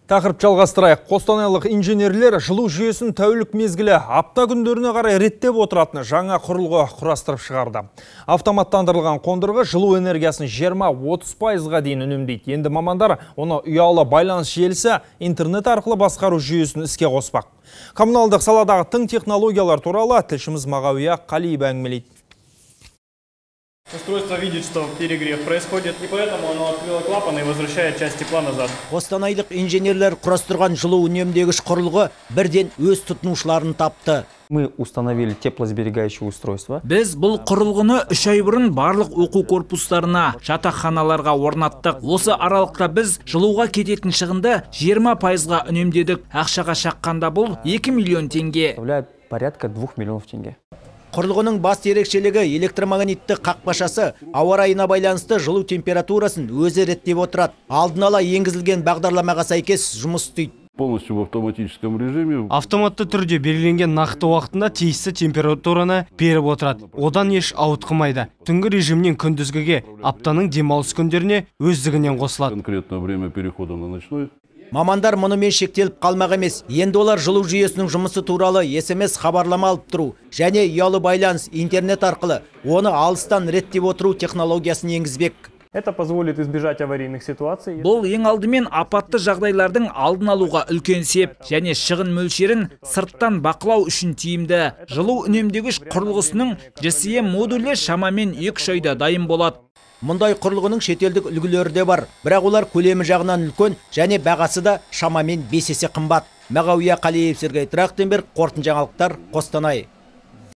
Тақырып жалғастырайық. Қостанайлық инженерлер жылу жүйесін тәулік мезгілі апта күндеріне қарай реттеп отыратын жаңа құрылғы құрастырып шығарды. Автоматтандырылған қондырғы жылу энергиясын 20-30%-ға дейін үнемдейді. Енді мамандар оны ұялы байланыс желісі интернет арқылы басқару жүйесін іске қоспақ. Коммуналдық саладағы тың технологиялар туралы тілшіміз Мағауия Қалиева әңгімелейді. Устройство видит, что перегрев происходит, и поэтому оно открыло клапан и возвращает часть тепла назад. Қостанайлық инженерлер құрастырған жылу үнемдегіш құрылғы бірден өз тұтынушыларын тапты. Мы установили теплосберегающее устройство. Біз бұл құрылғыны 3 ай бұрын барлық оқу корпустарына, жатақханаларға орнаттық. Осы аралықта біз жылуға кететін шығынды 20%-ға үнемдедік. Ақшаға шаққанда бұл 2 миллион теңге. Составляет порядка 2 миллионов тенге. Құрылғының басты ерекшелігі электромагнитті қақпашасы ауа райына байланысты жылу температурасын өзі реттеп отырады. Алдын ала енгізілген бағдарламаға сәйкес жұмыс істейді. Полностью в автоматическом режиме. Автоматты түрде белгіленген нақты уақытында тиісті температураны беріп отырады. Одан еш ауытқымайды. Түнгі режимнен күндізгіге, аптаның демалыс күндеріне өздігінен қосылады. Конкретно время перехода на ночной. Мамандар мұнымен шектеліп қалмақ емес. Енді олар жылу жүйесінің жұмысы туралы SMS хабарлама алып тұру және ұялы байланыс интернет арқылы оны алыстан реттеп отыру технологиясын енгізбек. Это позволит избежать аварийных ситуаций. Бұл ең алдымен апатты жағдайлардың алдын алуға үлкен сеп және шығын мөлшерін сырттан бақылау үшін тиімді. Жылу үнемдегіш құрылғысының GSM модулі шамамен 2 айда дайын болады. Мұндай құрылғының шетелдік үлгілері де бар, бірақ олар көлемі жағынан үлкен және бағасы да шамамен 5 есе қымбат. Мағауия Қалиев, Сергей Трахтенберг, қорытынды жаңалықтар, Қостанай.